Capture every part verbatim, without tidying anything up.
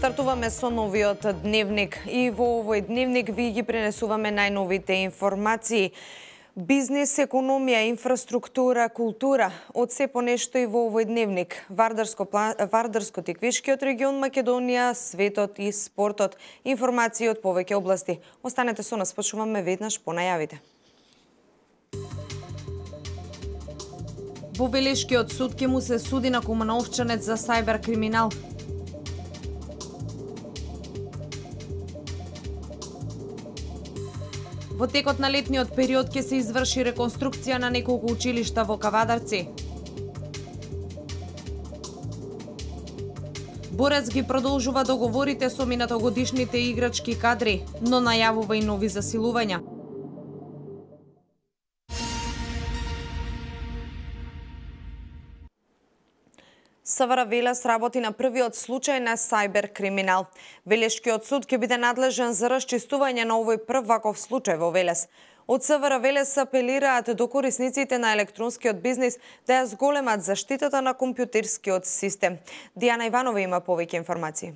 Стартуваме со новиот дневник и во овој дневник ви ги пренесуваме најновите информации. Бизнес, економија, инфраструктура, култура, од се по нешто и во овој дневник. Вардарско, Вардарско-Тиквишкиот регион, Македонија, светот и спортот. Информации од повеќе области. Останете со нас, почуваме веднаш по најавите. Во Велешкиот суд ќе му се суди на Кумановчанец за сајбер криминал. Во текот на летниот период ќе се изврши реконструкција на неколку училишта во Кавадарци. Борец ги продолжува договорите со минатогодишните играчки кадри, но најавува и нови засилувања. СВР Велес работи на првиот случај на сајбер криминал. Велешкиот суд ќе биде надлежен за расчистување на овој прв ваков случај во Велес. Од СВР Велес апелираат до корисниците на електронскиот бизнис да ја зголемат заштитата на компјутерскиот систем. Дијана Иванова има повеќе информации.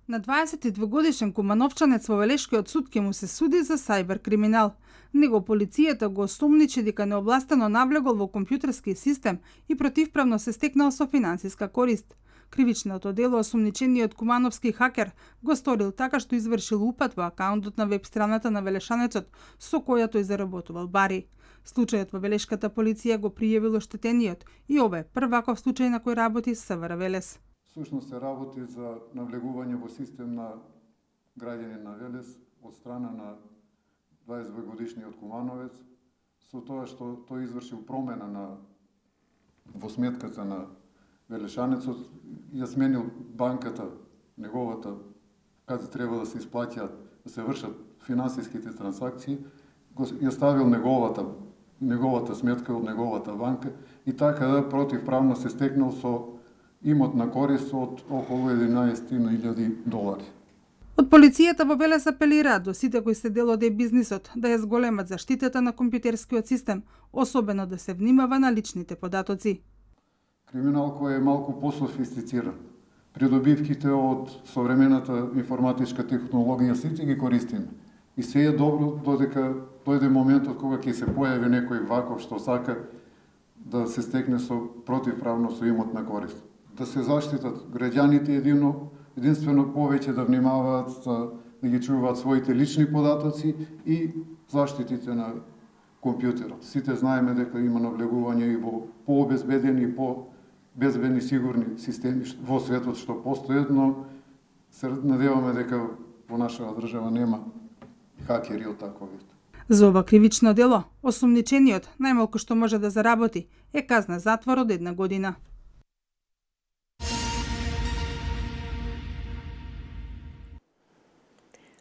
На дваесет и двегодишен Кумановчанец во Велешкиот суд ќе му се суди за сајбер криминал. Него полицијата го осомничи дека необластено навлегол во компјутерски систем и противправно се стекнал со финансиска корист. Кривичното дело осомничениот кумановски хакер го сторил така што извршил упад во акаунтот на веб страната на Велешанецот, со која тој заработувал бари. Случајот во Велешката полиција го пријавил оштетениот и ова е прв ваков случај на кој работи СВР Велес. Сушност се работи за навлегување во систем на граѓани на Велес од страна на дваесет двогодишниот Кумановец, со тоа што тој извршил промена на во сметката на Велешанецот, ја сменил банката, неговата, каде треба да се исплаќаат, да се вршат финансиските трансакции, го ја ставил неговата неговата сметка од неговата банка и така да противправно се стекнал со имот на корист од околу единаесет илјади долари. Од полицијата во Велес апелираат до сите кои се дел од е-бизнисот да ја зголемат заштитата на компјутерскиот систем, особено да се внимава на личните податоци. Криминал кој е малку пософистициран. Придобивките од современата информатичка технологија сите ги користиме. И се е добро додека дојде моментот кога ќе се појави некој ваков што сака да се стекне со противправно со имот на корист. Да се заштитат граѓаните едино, единствено повеќе да внимаваат да ги чуваат своите лични податоци и заштитите на компјутерот. Сите знаеме дека има навлегување и во пообезбедени и по-безбедни сигурни системи во светот што постојат, но се надеваме дека во нашава држава нема хакери од таков вид. За ова кривично дело, осомничениот најмалку што може да заработи е казна затвор од една година.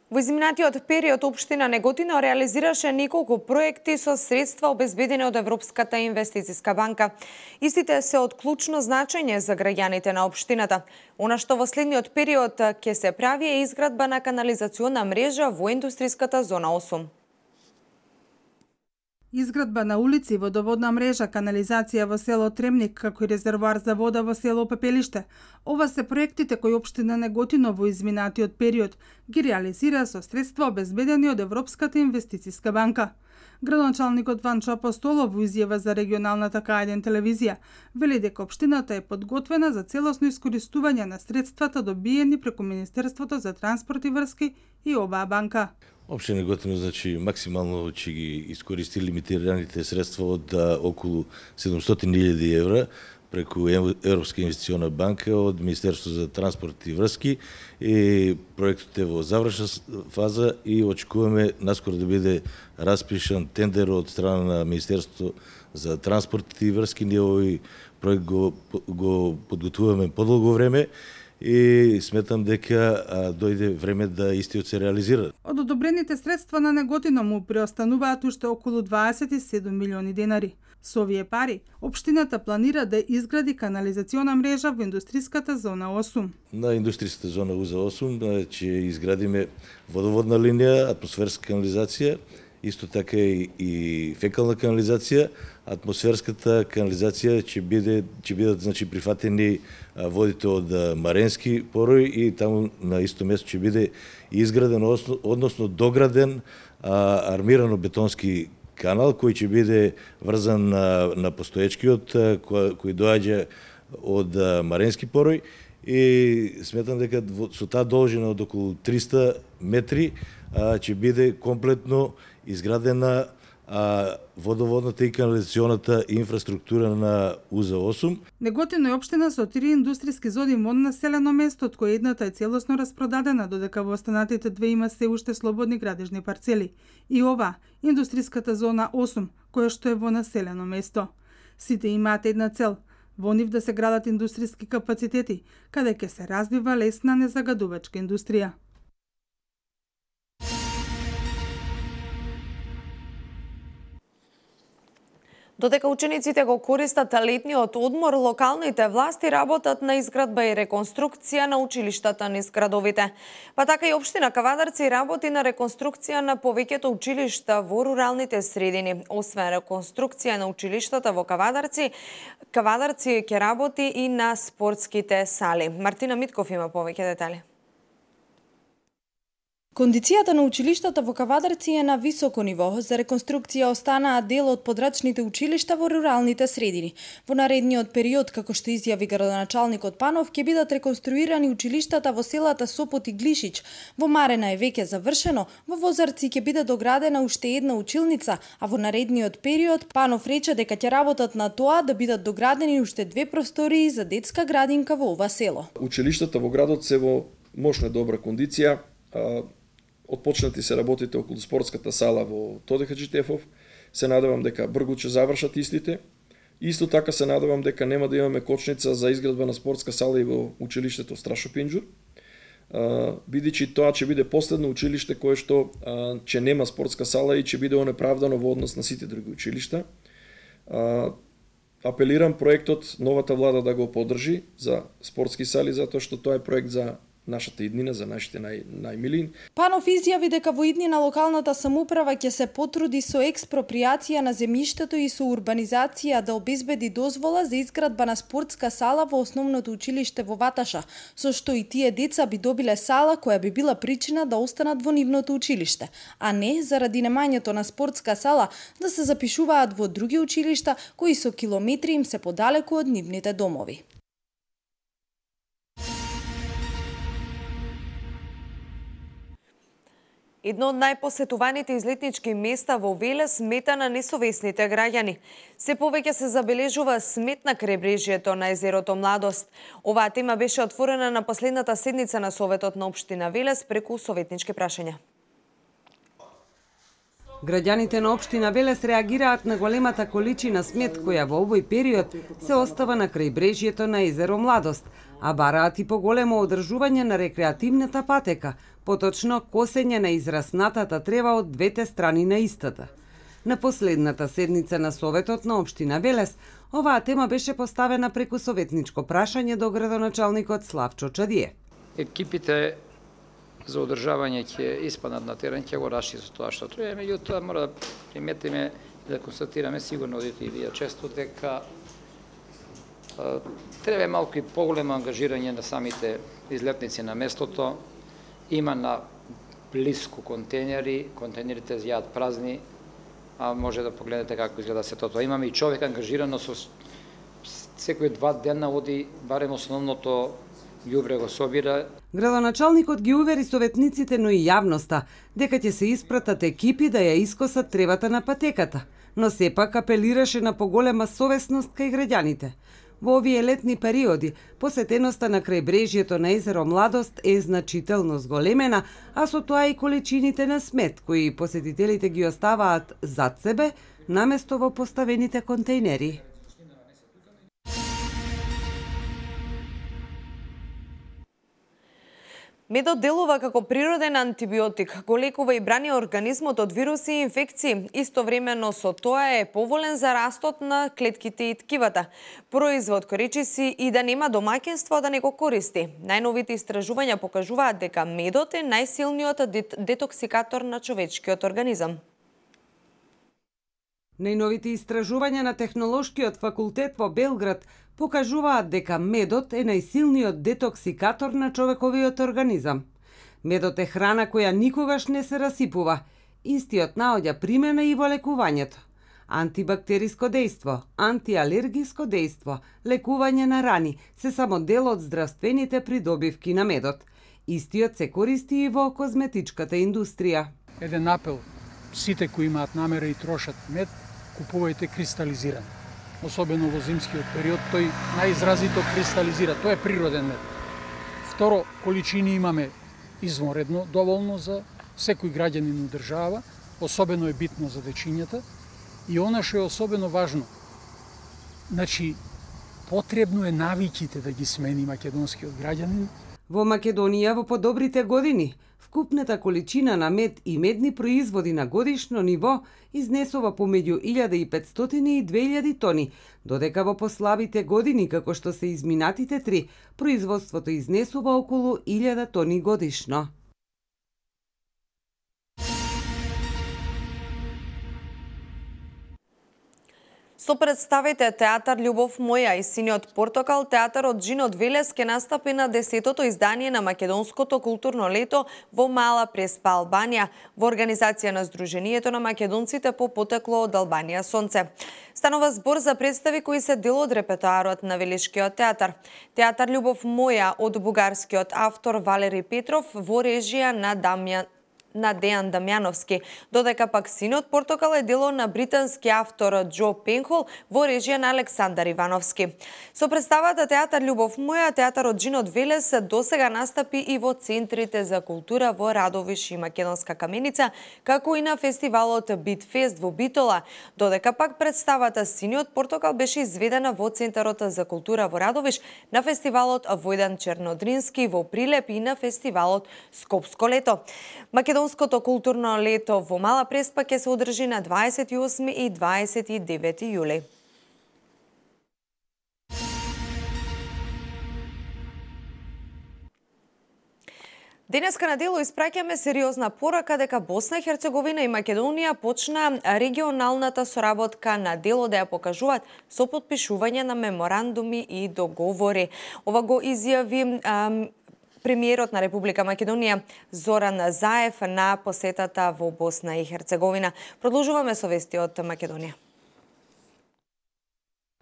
Во изминатиот период општина Неготино реализираше неколку проекти со средства обезбедени од Европската инвестициска банка. Истите се од клучно значење за граѓаните на општината. Она што во следниот период ќе се прави е изградба на канализациона мрежа во индустриската зона осум. Изградба на улици, водоводна мрежа, канализација во село Тремник, како и резервоар за вода во село Пепелиште. Ова се проектите кои општина Неготино во изминатиот период ги реализира со средства обезбедени од Европската инвестициска банка. Градоначалникот Ванчо Апостолов во изјава за регионалната К еден телевизија вели дека општината е подготвена за целосно искористување на средствата добиени преку Министерството за транспорт и врски и оваа банка. Општина Неготино, значи, максимално ќе ги искористи лимитираните средства од а, околу седумстотини илјади евра преку Европска инвестициона банка од Министерството за транспорт и врски и проектот е во завршна фаза и очекуваме наскоро да биде распишан тендер од страна на Министерството за транспорт и врски. Ние овој проект го, го подготвуваме подолго време и сметам дека а, дојде време да истиот се реализира. Од одобрените средства на Неготино му преостануваат уште околу дваесет и седум милиони денари. Со овие пари, општината планира да изгради канализациона мрежа во индустриската зона осум. На индустријската зона УЗА осум ќе изградиме водоводна линија, атмосферска канализација исто така и, и фекална канализација. Атмосферската канализација ќе биде ќе бидат значи прифатени водите од Маренски порој и таму на исто место ќе биде изграден, односно дограден а, армирано бетонски канал кој ќе биде врзан на, на постоечкиот кој, кој доаѓа од Маренски порој и сметам дека со таа должина од околу триста метри а, ќе биде комплетно изградена а, водоводната и канализационата инфраструктура на У З осум. Неготино е општина со три индустријски зони во населено место, од кој едната е целосно распродадена, додека во останатите две има се уште слободни градежни парцели. И ова, индустријската зона осум, која што е во населено место. Сите имаат една цел – во нив да се градат индустријски капацитети, каде ќе се развива лесна незагадувачка индустрија. Додека учениците го користат летниот одмор, локалните власти работат на изградба и реконструкција на училиштата низ градовите. Па така и општина Кавадарци работи на реконструкција на повеќето училишта во руралните средини. Освен реконструкција на училиштата во Кавадарци, Кавадарци ќе работи и на спортските сали. Мартина Митков има повеќе детали. Кондицијата на училиштата во Кавадарци е на високо ниво. За реконструкција останаа дел од подрачните училишта во руралните средини. Во наредниот период, како што изјави градоначалникот Панов, ќе бидат реконструирани училиштата во селата Сопот и Глишич. Во Марена е веќе завршено, во Возарци ќе биде доградена уште една училница, а во наредниот период Панов рече дека ќе работат на тоа да бидат доградени уште две простории за детска градинка во ова село. Училиштата во градот се во мощна добра кондиција. Отпочнати се работите околу спортската сала во Тоде Хаджитефов. Се надевам дека брзо ќе завршат истите. Исто така се надевам дека нема да имаме кочница за изградба на спортска сала и во училиштето Страшо Пинџур. Бидејќи тоа ќе биде последно училиште кое што ќе нема спортска сала и ќе биде онеправдано во однос на сите други училишта. Апелирам проектот новата влада да го поддржи за спортски сали, затоа што тоа е проект за нашата иднина, за нашите нај, најмилин. Панов изјави дека во иднина локалната самоуправа ќе се потруди со експроприација на земјиштето и со урбанизација да обезбеди дозвола за изградба на спортска сала во основното училиште во Ваташа, со што и тие деца би добиле сала која би била причина да останат во нивното училиште, а не заради немањето на спортска сала да се запишуваат во други училишта кои со километри им се подалеку од нивните домови. Едно од најпосетуваните излетнички места во Велес смета на несовесните граѓани. Се повеќе се забележува смет на крајбрежјето на езерото Младост. Оваа тема беше отворена на последната седница на Советот на општина Велес преку советнички прашања. Граѓаните на општина Велес реагираат на големата количина смет која во овој период се остава на крајбрежјето на езеро Младост, а бараат и поголемо одржување на рекреативната патека, поточно косење на израснатата трева од двете страни на истата. На последната седница на Советот на општина Велес, оваа тема беше поставена преку советничко прашање до градоначалникот Славчо Чадиев. Екипите за одржавање ќе испаднат на терен, ќе го раши за тоа што треба, меѓутоа мора да приметиме и да констатираме, сигурно одите и вие често, дека треба малку и поголемо ангажирање на самите излетници на местото. Има на блиску контейнери, контейнерите зјаат празни, а може да погледнете како изгледа сето тоа. Имаме и човек ангажирано со секој два дена оди барем основното ѓубре го собира. Градоначалникот ги увери советниците, но и јавноста, дека ќе се испратат екипи да ја искосат тревата на патеката, но сепак апелираше на поголема совесност кај граѓаните. Во овие летни периоди, посетеноста на крајбрежјето на езеро Младост е значително зголемена, а со тоа и количините на смет, кои посетителите ги оставаат зад себе, наместо во поставените контейнери. Медот делува како природен антибиотик, го лекува и брани организмот од вируси и инфекции. Истовремено со тоа е поволен за растот на клетките и ткивата. Производ кој речи си и да нема домаќинство да не го користи. Најновите истражувања покажуваат дека медот е најсилниот детоксикатор на човечкиот организам. Најновите истражувања на Технолошкиот факултет во Белград покажуваат дека медот е најсилниот детоксикатор на човековиот организам. Медот е храна која никогаш не се расипува. Истиот наоѓа примена и во лекувањето. Антибактериско дејство, антиалергиско дејство, лекување на рани се само дел од здравствените придобивки на медот. Истиот се користи и во козметичката индустрија. Еден апел, сите кои имаат намера и трошат мед, купувајте кристализиран. Особено во зимскиот период, тој најизразито кристализира, тој е природен мед. Второ, количини имаме извонредно доволно за секој граѓанин у држава, особено е битно за дечињата. И она што е особено важно, значи, потребно е навиките да ги смени македонскиот граѓанин. Во Македонија во подобрите години, вкупната количина на мед и медни производи на годишно ниво изнесува помеѓу илјада и петстотини и две илјади тони, додека во послабите години, како што се изминатите три, производството изнесува околу илјада тони годишно. Со представите Театар Љубов моја и Синиот портокал, театарот Джинот Велес ке настапи на десетото издание на Македонското културно лето во Мала Преспа, Албанија, во организација на Сдруженијето на македонците по потекло од Албанија Сонце. Станува збор за представи кои се дел од репертоарот на Велишкиот театар. Театар Љубов моја од бугарскиот автор Валери Петров во режија на Дамјан на Дејан Дамјановски, додека пак Синиот портокал е дело на британски автор Џо Пенхол во режија на Александар Ивановски. Со представата Театар Љубов моја, театарот Джинот Велес досега настапи и во центрите за култура во Радовиш и Македонска Каменица, како и на фестивалот Битфест во Битола, додека пак представата Синиот портокал беше изведена во Центарот за култура во Радовиш, на фестивалот Војдан Чернодрински во Прилеп и на фестивалот Скопско лето. Македонското културно лето во Мала Преспа ќе се одржи на дваесет и осми и дваесет и девети јули. Денеска на дело испраќаме сериозна порака дека Босна и Херцеговина и Македонија почна регионалната соработка на дело да ја покажуваат со потпишување на меморандуми и договори. Ова го изјави ам, премиерот на Република Македонија Зоран Заев на посетата во Босна и Херцеговина. Продолжуваме со вести од Македонија.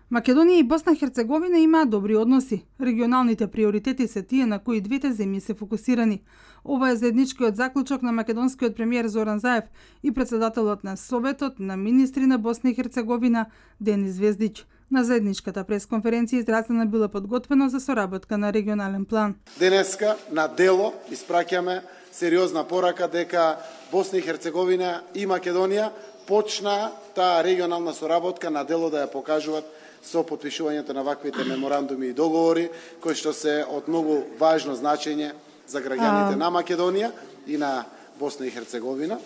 Македонија и Босна и Херцеговина имаат добри односи. Регионалните приоритети се тие на кои двете земји се фокусирани. Ова е заедничкиот заклучок на македонскиот премиер Зоран Заев и председателот на Советот на министри на Босна и Херцеговина Денис Звездич. На заедничката пресконференција изразена била подготвено за соработка на регионален план. Денеска на дело испраќаме сериозна порака дека Босна и Херцеговина и Македонија почна таа регионална соработка на дело да ја покажуваат со потпишувањето на ваквите меморандуми и договори, кои што се од многу важно значење за граѓаните на Македонија и на Босна и Херцеговина.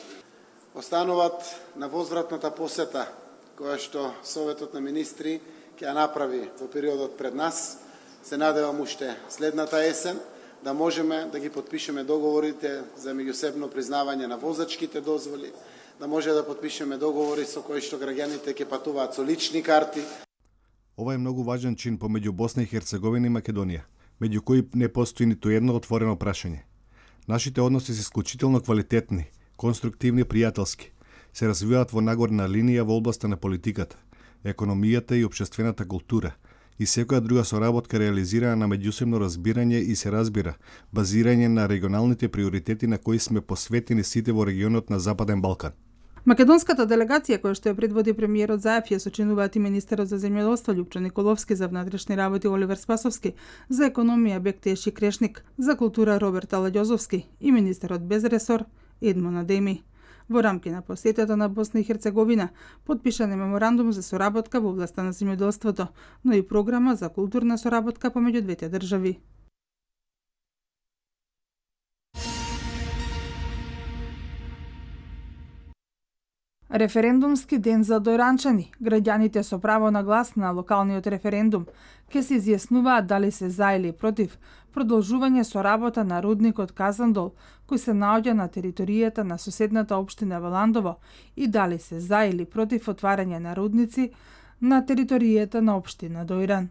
Остануваат на возвратната посета која што Советот на министри ќе ја направи во периодот пред нас. Се надевам уште следната есен да можеме да ги потпишеме договорите за меѓусебно признавање на возачките дозволи, да може да потпишеме договори со кои што граѓаните ќе патуваат со лични карти. Ова е многу важен чин помеѓу Босна и Херцеговина и Македонија, меѓу кои не постои ниту едно отворено прашање. Нашите односи се исклучително квалитетни, конструктивни и пријателски. Се развиваат во нагорна линија во областа на политиката, економијата и општествената култура и секоја друга соработка реализирана на меѓусебно разбирање и се разбира, базирање на регионалните приоритети на кои сме посветени сите во регионот на Западен Балкан. Македонската делегација која што ја предводи премиерот Заев ја сочинуваат и министерот за земјоделство Љупчо Николовски, за внатрешни работи Оливер Спасовски, за економија Бектеши Крешник, за култура Роберт Аладјозовски и министерот без ресор Едмон Адеми. Во рамки на посетата на Босна и Херцеговина потпишан е меморандум за соработка во областа на земјоделството, но и програма за културна соработка помеѓу двете држави. Референдумски ден за дојранчани. Граѓаните со право на глас на локалниот референдум ќе се изјаснуваат дали се за или против продолжување со работа на рудникот Казандол, кој се наоѓа на територијата на соседната општина Валандово, и дали се за или против отварање на рудници на територијата на општина Дојран.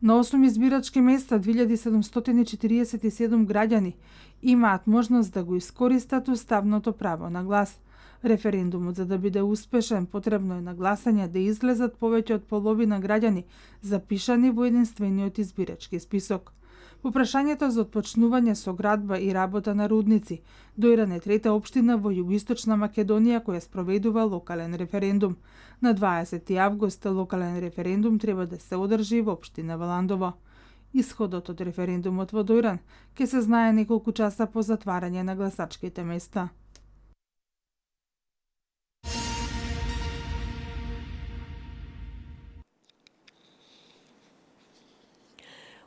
На осум избирачки места две илјади седумстотини четириесет и седум граѓани имаат можност да го искористат уставното право на глас. Референдумот, за да биде успешен, потребно е на гласање да излезат повеќе од половина граѓани запишани во единствениот избирачки список. По прашањето за отпочнување со градба и работа на рудници, Дојран е трета општина во југоисточна Македонија која спроведува локален референдум. На дваесети август локален референдум треба да се одржи во општина Валандово. Исходот од референдумот во Дојран ќе се знае неколку часа по затварање на гласачките места.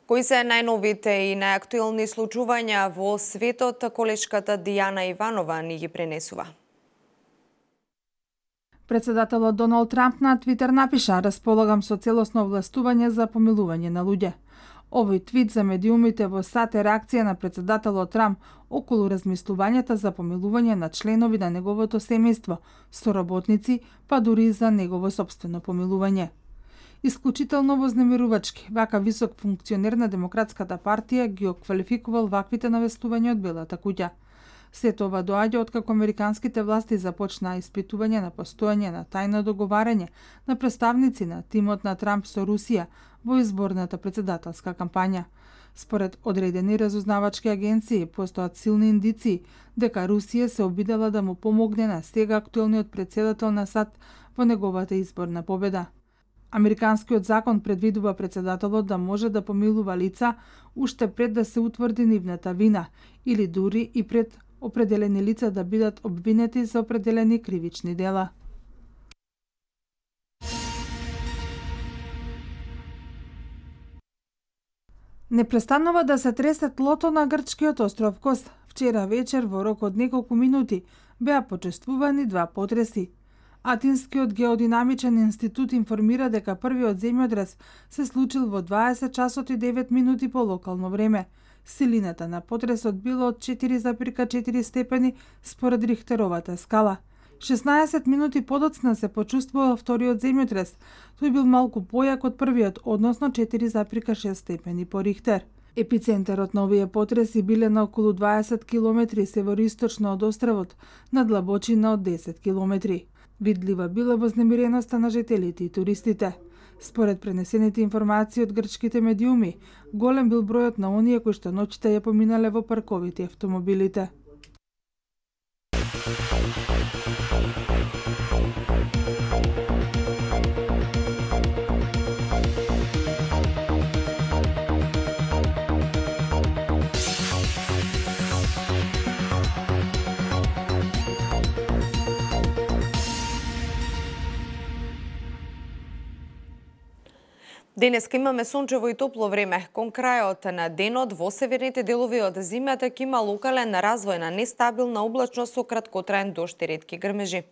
Кои се најновите и најактуелни случувања во светот, колешката Дијана Иванова ни ги пренесува. Председателот Доналд Трамп на Твитер напиша: "Располагам со целосно овластување за помилување на луѓе." Овој твит за медиумите во САД е реакција на председателот Трамп околу размислувањата за помилување на членови на неговото семејство, соработници, па дури за негово сопствено помилување. Исклучително вознемирувачки, вака висок функционер на Демократската партија ги оквалификувал ваквите навестувања од Белата куќа. Сето ова доаѓа откако американските власти започнаа испитување на постојање на тајно договарање на представници на тимот на Трамп со Русија во изборната председателска кампања. Според одредени разузнавачки агенции, постојат силни индиции дека Русија се обидела да му помогне на сега актуелниот председател на САД во неговата изборна победа. Американскиот закон предвидува председателот да може да помилува лица уште пред да се утврди нивната вина или дури и пред определени лица да бидат обвинети за определени кривични дела. Не престанува да се тресе тлото на грчкиот остров Кос. Вчера вечер во рок од неколку минути беа почествувани два потреси. Атинскиот геодинамичен институт информира дека првиот земјотрес се случил во дваесет часот и девет минути по локално време. Силината на потресот било од четири запирка четири степени според Рихтеровата скала. шеснаесет минути подоцна се почувствувал вториот земјотрес. Тој бил малку појак од првиот, односно четири запирка шест степени по Рихтер. Епицентарот на овие потреси биле на околу дваесет километри североисточно од островот, на длабочина од десет километри. Видлива била вознемиреноста на жителите и туристите. Според пренесените информации од грчките медиуми, голем бил бројот на оние кои што ноќта ја поминале во парковите автомобилите. Денеска имаме сончево и топло време. Кон крајот на денот во северните делови од земјата ќе има локален развој на нестабилна облачност со краткотраен дожд и ретки грмежи.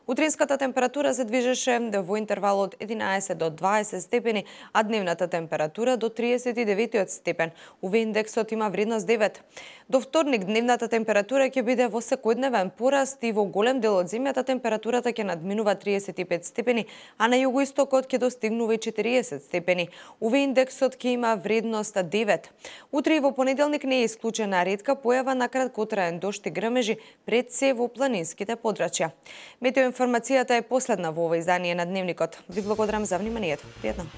Утринската температура се движеше во интервал од единаесет до дваесет степени, а дневната температура до триесет и деветиот степен. У ви индексот има вредност девет. До вторник дневната температура ќе биде во секојдневен пораст и во голем дел од земјата температурата ќе надминува триесет и пет степени, а на југоистокот ќе достигнува и четириесет степени. У ви индексот ќе има вредност девет. Утре и во понеделник не е исклучена ретка појава на краткотраен дожд и грмежи, пред се во планинските подрачја. Метеоинформацијата е последна во ова издание на Дневникот. Ви благодарам за вниманието. Пријатно.